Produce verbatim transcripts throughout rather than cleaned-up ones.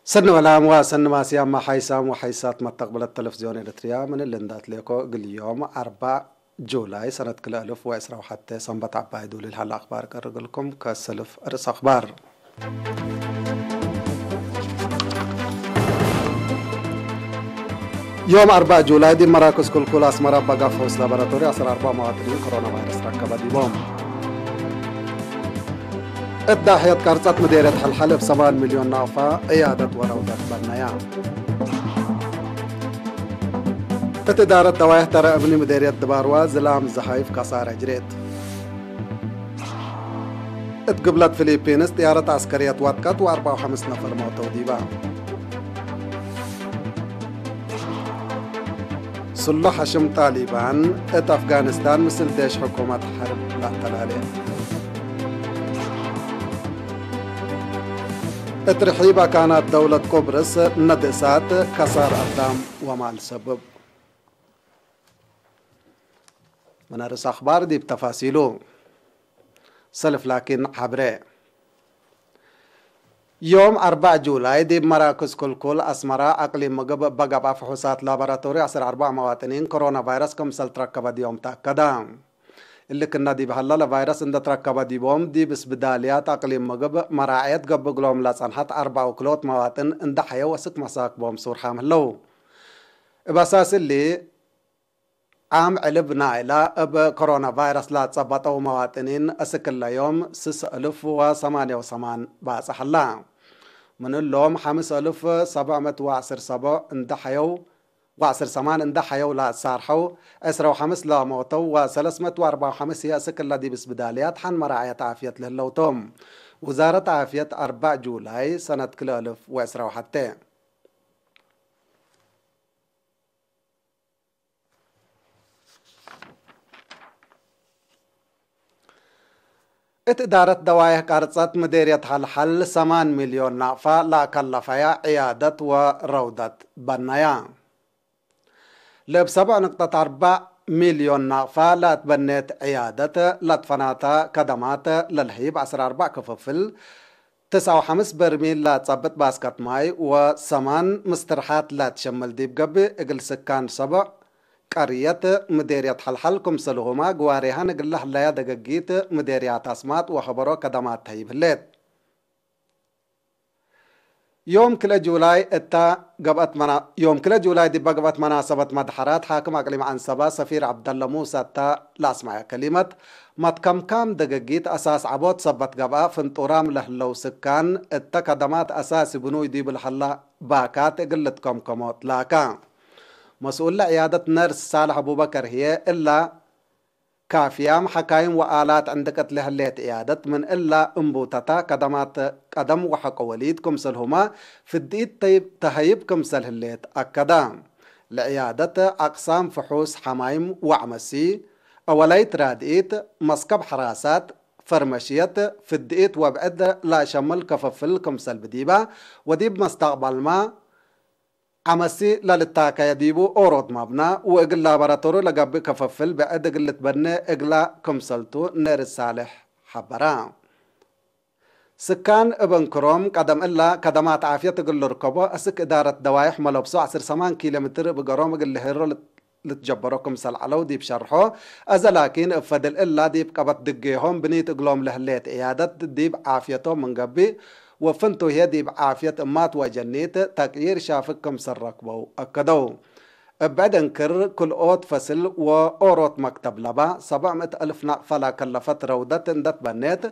ሰኒ ወላም ወሰኒ ማስያም ሓይሳም ወሓይሳት መተቅብለት ተለፍዝዮን ኤረትርያ፣ ምን እሊ እንዳትሌኮ እግል ዮም አርበዕ ጁላይ ሰነት ክልኤ እልፍ ወዕስራ ወሐቴ ሰንበት ዐባይ ዱሊል ሀለ አክባር ቀርግልኩም። ከሰልፍ ርእስ አክባር። ዮም አርበዕ ጁላይ ዲብ መራክዝ ክልኩል አስመረ በጋፍ ሑስ ላቦራቶሪ ዐስር አርበዕ መዋጥኒን ኮሮና ቫይረስ ረከበ ዲቦም። እት ዳሕየት ቀርጸት ምዴርየት ሐልሐል እብ ሰማን ሚልዮን ናቅፋ ዕያደት ወረውደት በነያ። እት እዳረት ደዋይሕ ተረ እብኒ ምዴርየት ድባርዋ ዝላም ዘሓይፍ ከሳረ ጅሬት። እት ግብለት ፊሊፒንስ ጥያረት ዐስከርየት ወድቀት ወአርበዕ ወሐምስ ነፈር ሞተው ዲባ። ስሉሕ ሐሽም ጣሊባን እት አፍጋኒስታን ምስል ዴሽ ሕኩመት ሐርብ ለአተላሌ። እት ርሒብ አካናት ደውለት ቁብርስ ነድ እሳት ከሳር አዳም ወማል ሰብብ። ምን ርእስ አክባር ዲብ ተፋሲሉ። ሰልፍ ላኪን ሐብሬ። ዮም አርበዕ ጁላይ ዲብ መራክዝ ክልኩል አስመረ አቅሊም ምግብ እበ ገብአ ፍሑሳት ላቦራቶሪ ዐስር አርበዕ መዋጥኒን ኮሮና ቫይረስ ክምሰል ትረከበ ዲዮም ተአከደ። እሊ ክነ ዲብ ሀለ ለቫይረስ እንደ ትረከበ ዲቦም ዲብ ስብዳልያት አቅሊም ምግብ መራዕየት ገብእ እግሎም ለጸንሐት አርበዕ ወክልኦት መዋጥን እንደ ሐየው አስክ መሳክቦም ሱርሓም ህለው። እብ አሳስ እሊ፣ ዓም ዕልብ ናይላ እብ ኮሮና ቫይረስ ለአትጸበጠው መዋጥኒን እስክ እለ ዮም ስስ እልፍ ወሰማንየ ወሰማን ባጽሕ ሀላ። ምን እሎም ሐምስ እልፍ ሰብዕ ምእት ወዐስር ሰብዕ እንደ ሐየው፣ ወዐስር ሰማን እንደ ሐየው ለአትሳርሐው፣ ዕስረ ወሐምስ ለሞተው ወሰለስ ምእት ወአርበዕ ወሐምስ ህዬ እስክ እለ ዲብ ስብዳልያት ሐን መራዕየት ዓፍየት ለህለው ቶም። ውዛረት ዓፍየት አርበዕ ጁላይ ሰነት ክልኤ እልፍ ወዕስረ ወሐቴ። እት እዳረት ደዋይሕ ቀርጸት ምዴርየት ሐልሐል ሰማን ሚልዮን ናቅፋ ለአከለፈያ ዕያደት ወረውደት በነያ። ለእብ ሰብዕ ንቅጠት አርበዕ ሚልዮን ናቅፋ ለአትበኔት ዕያደት ለትፈናተ ከደማት ለልህይብ ዐስር አርበዕ ክፍፍል፣ ትስዓ ወሐምስ በርሚል ለጸብጥ ባስከት ማይ ወሰማን ምስትርሓት ለትሸምል ዲብ ገብእ፣ እግል ስካን ሰብዕ ቀርየት ምዴርየት ሐልሐል ክምሰልሁመ፣ ግዋሬሀን እግል ለህለያ ደገጊት ምዴርያት አስማጥ ወሐበሮ ከደማት ተህይብ ህሌት። ዮም ክልኤ ጁላይ እተ ገብአት መና-፣ ዮም ክልኤ ጁላይ ዲበ ገብአት መናሰበት መድሐራት፣ ሓክም አቅሊም ዐንሰበ ሰፊር ዐብደለ ሙሰ እተ ለአስመዐ ከሊመት፣ መትከምካም ደገጊት አሳስ ዐቦት ሰበት ገብአ፣ ፍንጡራም ለህለው ስካን እተ ከደማት አሳሲ ብኑይ ዲብ ለሀላ ባካት እግል ልትከምከሞ ትላከ። መስኡል ለዕያደት ነርስ ሳልሕ አቡበከር ህዬ፣ እለ ካፍያም ሐካይም ወአላት ዕንድቅት ለህሌት ዕያደት ምን እለ እንቡተተ ከደማት ቀደም ወሐቆ ወሊድ ክምሰልሁመ ፍድኢት ተይብ-፣ ተሀይብ ክምሰል ህሌት አከደ። ለዕያደት አቅሳም ፍሑስ ሐማይም ወዐመሲ፣ አወላይት ራድኢት፣ መስከብ ሐራሳት፣ ፈርመሽየት፣ ፍድኢት ወብዕድ ለአሸምል ክፍፍል ክምሰል ብዲበ ወዲብ መስተቅበልመ ዐመሲ ለልታከየ ዲቡ ኦሮት መብነ ወእግል ላቦራቶሪ ለገብእ ክፍፍል ብዕድ እግል ልትበኔ እግለ ክምሰልቱ ነርስ ሳልሕ ሐበረ። ስካን እብ እንክሮም ቀደም እለ ከደማት ዓፍየት እግል ልርከቦ፣ አስክ እዳረት ደዋይሕ መለብሶ ዐስር ሰማን ኪሎ ሜትር እብ ገሮም እግል ልሄሮ ልት-፣ ልትጀበሮ ክምሰል ዐለው ዲብ ሸርሖ፣ አዘ ላኪን እብ ፈድል እለ ዲብ ቀበት ድጌሆም ብኒት እግሎም ለህሌት ዕያደት ዲብ ዓፍየቶም ምን ገብእ፣ ወፍንቱ ህዬ ዲብ ዓፍየት እማት ወአጀኒት ተቅዪር ሻፍግ ክምሰል ረክበው አከደው። እብ ብዕድ እንክር፣ ክልኦት ፈስል ወኦሮት መክተብ ለበ ሰብዕ ምእት አልፍ ናቅፈ ለከለፈት ረውደት እንደ ትበኔት፣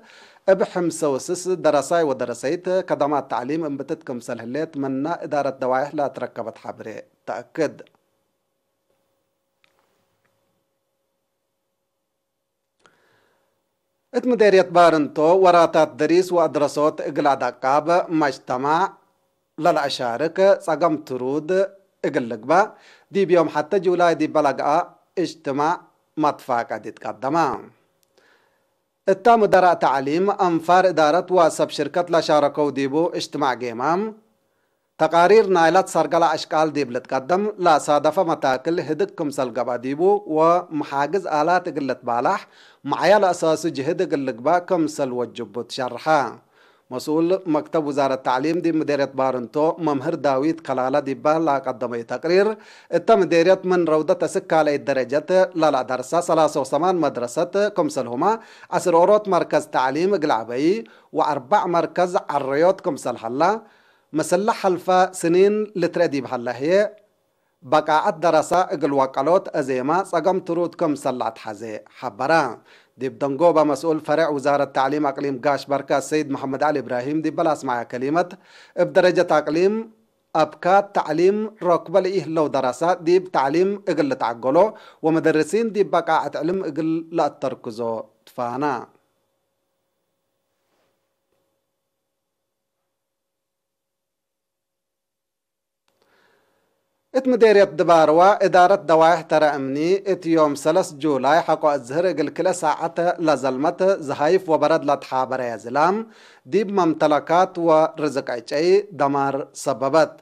እብ ሕምሰ ወስስ ደረሳይ ወደረሰይት ከደማት ተዕሊም እምብትት ክምሰል ህሌት ምነ እዳረት ደዋይሕ ለአትረከበት ሐብሬ ተአክድ። እት ምዴርየት ባርንቶ፣ ወራታት ደሪስ ወአድረሶት እግል አዳቃብ መጅተማዕ ለለአሻርክ ጸገም ትሩድ እግል ልግበእ፣ ዲብ ዮም ሐቴ ጁላይ ዲበ ለገአ እጅትማዕ መትፋቀድ ኢትቀደመ። እተ ሙደራእ ተዕሊም፣ አንፋር እዳረት ወሰብ ሽርከት ለሻረከው ዲቡ እጅትማዕ ጌማም፣ ተቃሪር ናይላት ሰርገለ አሽቃል ዲብ ልትቀደም ለአሳደፈ መታክል ህድግ ክምሰል ገብአ ዲቡ ወመሓግዝ አላት እግል ልትባላሕ፣ መዓያ ለአሳሱ ጅህድ እግል ልግባእ ክምሰል ወጅቡ ትሸርሐ። መስኡል መክተብ ውዛረት ተዕሊም ዲብ ምዴርየት ባርንቶ መምህር ዳዊት ከላለ ዲበ ለቀደመዩ ተቅሪር፣ እተ ምዴርየት ምን ረውደት እስክ ካልአይት ደረጀት ለለአደርሳ ሰላሰ ወሰማን መድረሰት ክምሰልሁመ፣ ዐስር ኦሮት መርከዝ ተዕሊም እግል ዐበይ ወአርበዕ መርከዝ ዐረዮት ክምሰል ሀላ፣ ምስለ ሐልፈ ስኒን ልትረአ ዲብ ሀለ ህዬ፣ በቃዐት ደረሰ እግል ወቀሎት አዜመ ጸገም ትሩድ ክምሰል ለአትሐዜ ሐበረ። ዲብ ደንጎበ መስኡል ፈሬዕ ውዛረት ተዕሊም አቅሊም ጋሽ በርከ ሰይድ መሐመድ ዐሊ እብራሂም ዲበ ለአስመዐ ከሊመት፣ እብ ደረጀት አቅሊም አብካት ተዕሊም ረክበ ለኢህለው ደረሰ ዲብ ተዕሊም እግል ልትዐገሎ ወመደርሲን ዲብ በቃዐት ዕልም እግል ለአተርክዞ ትፋነ። እት ምዴርየት ድባርዋ እዳረት ደዋይሕ ተረ እምኒ፣ እት ዮም ሰለስ ጁላይ ሐቆ እዝህር እግል ክልኤ ሳዐት ለዘልመት ዘሀይፍ ወበረድ ለትሓበረየ ዝላም፣ ዲብ መምተለካት ወርዝቅ ዕጨይ ደማር ሰበበት።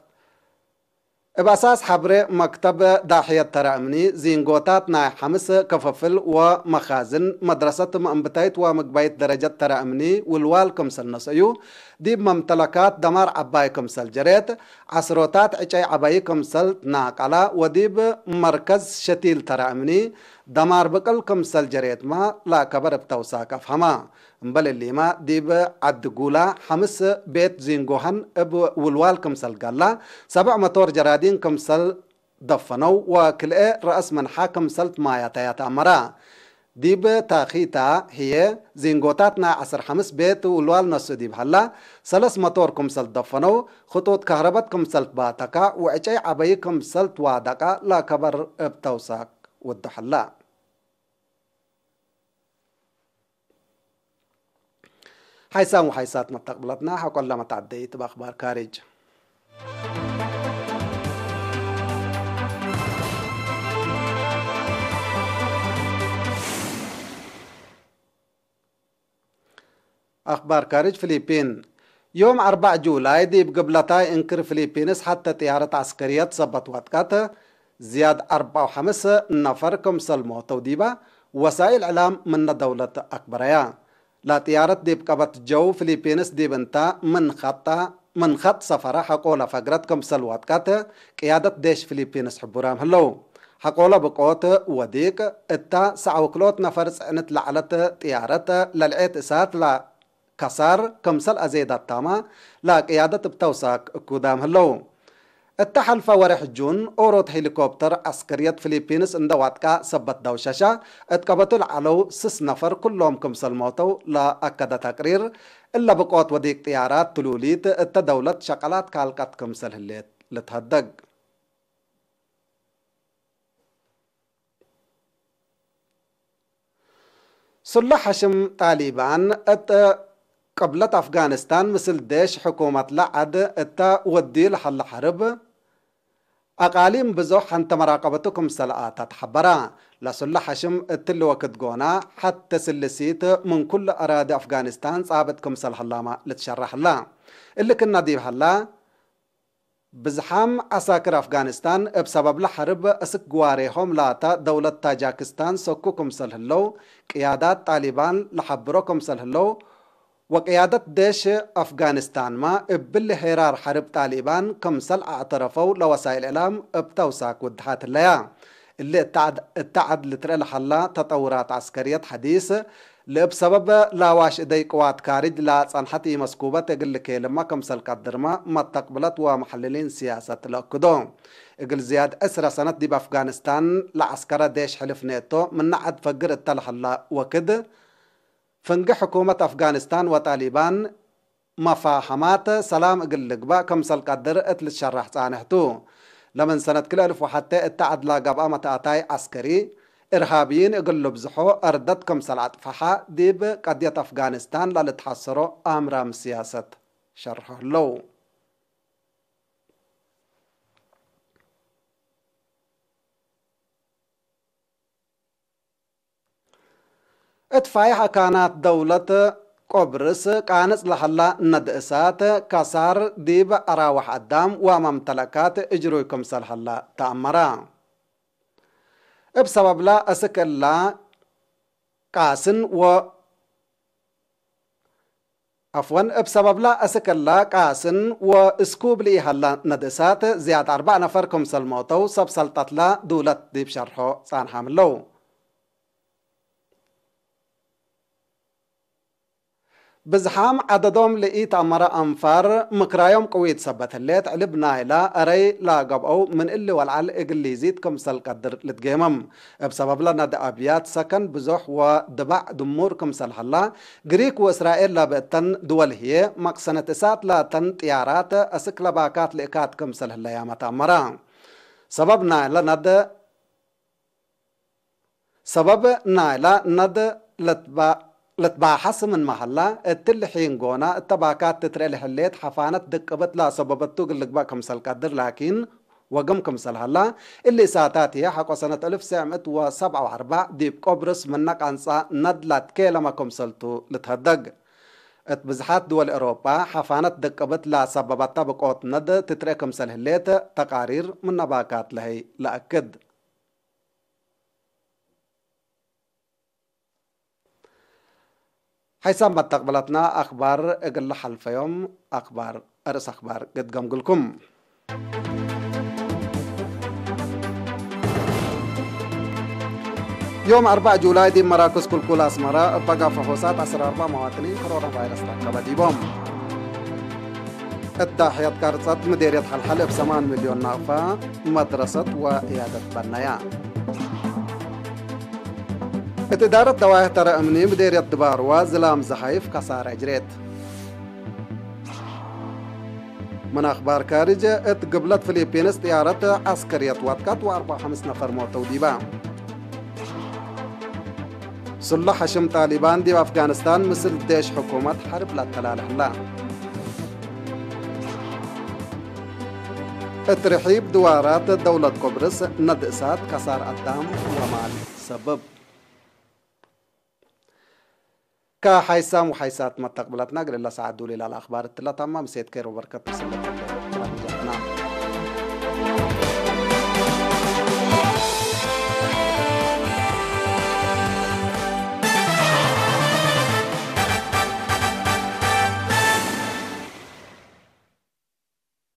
እብ አሳስ ሐብሬ መክተብ ዳሕየት ተረ እምኒ፣ ዚንጎታት ናይ ሐምስ ክፍፍል ወመኻዝን መድረሰት መእንብታይት ወምግባይት ደረጀት ተረ እምኒ ውልዋል ክምሰል ነሰዩ፣ ዲብ መምተለካት ደማር ዐባይ ክምሰል ጀሬት፣ ዐስሮታት ዕጨይ ዐበይ ክምሰል ትናቀላ ወዲብ መርከዝ ሸቲል ተረ እምኒ ደማር ብቅል ክምሰል ጀሬትመ ለአከበር እብ ተውሳክ አፍሀመ። እምበል እሊመ፣ ዲብ ዐዲ ጉላ ሐምስ ቤት ዚንጎሀን እብ ውልዋል ክምሰል ጋላ፣ ሰብዕ መቶር ጀራዲን ክምሰል ደፈነው ወክልኤ ረአስ ምንሓ ክምሰል ትማያተያ ተአመረ። ዲብ ታኪታ ህዬ፣ ዚንጎታት ናይ ዐስር ሐምስ ቤት ውልዋል ነስኡ ዲብ ሀላ፣ ሰለስ መቶር ክምሰል ትደፈነው፣ ክጡጥ ከህረበት ክምሰል ትባተካ ወዕጨይ ዐበይ ክምሰል ትዋደቀ ለከበር እብ ተውሳክ ውዱ ሀላ። ሓይሳም ወሓይሳት መተቅብለትና ሐቆለ መትዐደይት እብ አክባር ካርጅ። አክባር ካርጅ ፊሊፒን። ዮም አርበዕ ጁላይ ዲብ ግብለታይ እንክር ፊሊፒንስ ሐተ ጥያረት ዐስከርየት ሰበት ወጥቀት፣ ዝያድ አርበዕ ወሐምስ ነፈር ክምሰል ሞተው ዲበ ወሳኢል ዕላም ምነ ደውለት አክበረያ። ለጥያረት ዲብ ቀበት ጀው ፊሊፒንስ ዲብ እንተ ምን ኸጠ፣ ምን ኸጥ ሰፈረ ሐቆለ ፈግረት ክምሰል ወጥቀት ቅያደት ዴሽ ፊሊፒንስ ሕቡራም ህለው። ሐቆለ ብቆት ወዲቅ እተ ሰዕ ወክልኦት ነፈር ጽዕንት ለዐለት ጥያረት ለልዔት እሳት ለከሳር ክምሰል አዜዳታመ ለቅያደት እብ ተውሳክ እኩዳም ህለው። እተ ሐልፈ ወሬሕ ጁን፣ ኦሮት ሄሊኮፕተር ዐስከርየት ፊሊፒንስ እንደ ዋጥቀ ሰበት ደውሸሸ፣ እት ቀበቱ ለዐለው ስስ ነፈር ኩሎም ክምሰል ሞተው ለአከደ ተቅሪር፣ እለ ብቆት ወዲቅ ጥያራት ትሉሊት እተ ደውለት ሸቀላት ካልቀት ክምሰል ህሌት ልትሀደግ። ሱላሕ ሐሽም ጣሊባን እት ቅብለት አፍጋኒስታን ምስል ዴሽ ሕኩመት ለዐድ እተ ወድዩ ለሀለ ሐርብ፣ አቃሊም ብዞሕ ሐንተ መራቀበቱ ክምሰል አተ ተሐበረ። ለሱላሕ ሐሽም እትሊ ወክድ ጎነ፣ ሐቴ ስልሲት ምን ኩሉ አራዲ አፍጋኒስታን ጻብጥ ክምሰል ሀላመ ልትሸረሕ ህለ። እሊ ክእነ ዲብ ሀላ፣ ብዝሓም ዐሳክር አፍጋኒስታን እብ ሰበብለ ሐርብ እስክ ግዋሬሆም ላተ ደውለት ታጃክስታን ሰኩ ክምሰል ህለው ቅያዳት ጣሊባን ለሐብሮ ክምሰል ህለው ወቅያደት ዴሽ አፍጋኒስታንመ እብሊ ሄራር ሐርብ ጣሊባን ክምሰል አዕተረፈው ለወሳይል እዕላም እብ ተውሳክ ውድሓት ህለያ። እሊ እተ ዐድ፣ እተ ዐድ ልትርኤ ለሀላ ተጠውራት ዐስከርየት ሐዲስ፣ ለእብ ሰበብ ለአዋሽ እደይ ቅዋት ካርጅ ለጸንሐት ኢመስኩበት እግል ልኬልመ ክምሰል ቀድርመ መተቅብለት ወመሐልሊን ስያሰት ለአክዶ። እግል ዝያድ ዕስረ ሰነት ዲብ አፍጋኒስታን ለዐስከረ ዴሽ ሕልፍ ኔቶ ምነ ዐድ ፈግር እተ ለሀላ ወክድ፣ ፍንጌ ሕኩመት አፍጋኒስታን ወጣሊባን መፋሀማት ሰላም እግል ልግበእ ክምሰል ቀድር እት ልትሸረሕ ጻንሕ ቱ። ለምን ሰነት ክልኤ እልፍ ወሐቴ እተ ዐድ ለገብአ መትአታይ ዐስከሪ፣ እርሃብይን እግል ልብዝሖ አርደት ክምሰል አጥፈሐ፣ ዲብ ቀድየት አፍጋኒስታን ለልትሐሰሮ አምራም ስያሰት ሸርሖ ህለው። እት ፋይሕ አካናት ደውለት ቆብርስ ቃንጽ ለሀላ ነድእሳት ከሳር ዲብ አራወሕ አዳም ወመምተለካት እጅሩይ ክምሰል ሀላ ተአመረ። እብ ሰበብለ፣ አስክ እላ ቃስን ወ አፍወን እብ ሰበብለ አስክ እለ ቃስን ወእስኩብ ለኢሀለ ነድእሳት ዝያድ አርበዕ ነፈር ክምሰል ሞተው ሰብ ሰልጠትለ ዱለት ዲብ ሸርሖ ጻንሓም ህለው። ብዝሓም ዐደዶም ለኢተአመረ አንፋር ምክራዮም ቅዊት ሰበት ህሌት፣ ዕልብ ናይለ እረይ ለገብአው ምን እሊ ወለዐል እግል ሊዚድ ክምሰል ቀድር ልትጌመም። እብ ሰበብለ ነድ አብያት ሰከን ብዞሕ ወድባዕ ድሙር ክምሰል ሀላ፣ ግሪክ ወእስራኤል ለብእተን ድወል ህዬ፣ መቅሰነት እሳት ላተን ጥያራት አስክ ለባካት ልእካት ክምሰል ህለያመ ተአመረ። ሰበብ ናይለ ነድ ሰበብ ናይላ ነድ ለትባ-፣ ለትባሐስ ምንመ ሀላ፣ እትሊ ሒን ጎና እተ ባካት ትትርኤ ለህሌት ሐፋነት ድቅብት ለአሰበበቱ እግል ልግበእ ክምሰል ቀድር፣ ላኪን ወግም ክምሰል ሀላ፣ እሊ እሳታት ህዬ ሐቆ ሰነት አልፍ ወትሰዕ ምእት ወሰብዓ ወአርበዕ ዲብ ቆብርስ ምነ ቃንጻ ነድ ላትኬለመ ክምሰልቱ ልትሀደግ። እት ብዝሓት ድወል ኤሮጳ ሐፋነት ድቅብት ለአሰበበተ ብቆት ነድ ትትርኤ ክምሰል ህሌት ተቃሪር ምነ ባካት ለሀይ ለአክድ። ሐይሳም መተቅብለትና አክባር እግል ለሐልፈዮም አክባር፣ አርእስ አክባር ግድገምግልኩም። ዮም አርበዕ ጁላይ ዲብ መራክዝ ኩልኩል አስመረ እበ ጋፈ ሆሳት ዐስር አርበዕ መዋጥኒን ኮሮና ቫይረስ ተአከበ ዲቦም። እት ዳሕየት ቀርጸት ምዴርየት ሐልሐል እብ ሰማን ሚልዮን ናቅፋ መድረሰት ወዕያደት በነያ። እት እዳረት ደዋይሕ ተረ እምኒ ምዴርየት ድባርዋ ዝላም ዘሐይፍ ከሳረ እጅሬት። ምን አክባር ካርጅ፣ እት ግብለት ፊሊፒንስ ጥያረት ዐስከርየት ወድቀት ወአርበዕ ወሐምስ ነፈር ሞተው ዲባ። ስሉሕ ሐሽም ጣሊባን ዲብ አፍጋኒስታን ምስል ዴሽ ሕኩመት ሐርብ ለአተላለ ህላ። እት ርሒብ ድዋራት ደውለት ቆብርስ ነድ እሳት ከሳር አዳም ወማል ሰብብ። ከሐይሳም ወሐይሳት መተቅብለትና እግል እለ ሰዓት ዱል ኢላለ አክባር እትለ ታማ ምሴት ኬር ወበርከት ምስለ